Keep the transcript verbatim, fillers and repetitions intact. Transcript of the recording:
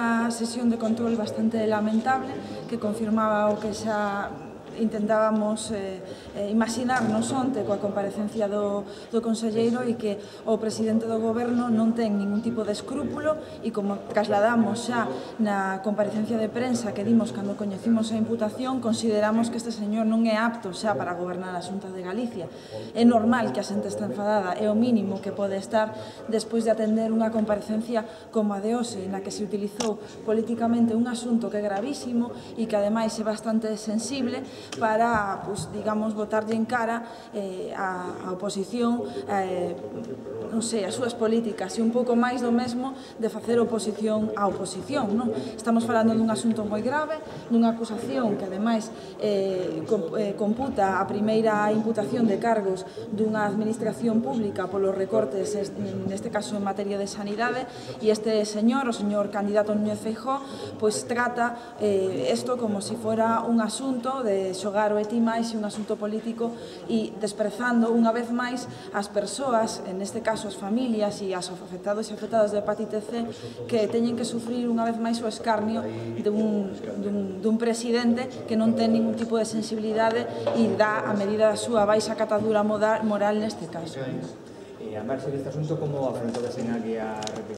unha sesión de control bastante lamentable que confirmaba o que xa intentábamos eh, eh, imaginarnos onte coa comparecencia do, do conselleiro e que o presidente do goberno non ten ningún tipo de escrúpulo e como trasladamos xa na comparecencia de prensa que dimos cando coñecimos a imputación, consideramos que este señor non é apto xa para gobernar a Xunta de Galicia. É normal que a xente está enfadada, é o mínimo que pode estar despois de atender unha comparecencia como a de hoxe, na que se utilizou políticamente un asunto que é gravísimo e que ademais é bastante sensible para, pues, digamos, botarlle en cara eh, a, a oposición, eh, non sei, as súas políticas e un pouco máis do mesmo de facer oposición á oposición, non? Estamos falando dun asunto moi grave, dunha acusación que ademais eh, computa a primeira imputación de cargos dunha administración pública polos recortes, neste caso en materia de sanidade, e este señor, o señor candidato Núñez Feijóo, pois trata isto como se fora un asunto de xogar o e ti máis e un asunto político e desprezando unha vez máis as persoas, en este caso as familias e as afectados e afectadas de hepatite C, que teñen que sufrir unha vez máis o escarnio dun, dun, dun presidente que non ten ningún tipo de sensibilidade e dá a medida da súa baixa catadura moral neste caso. E a marxe deste asunto, como afrontou a señal que a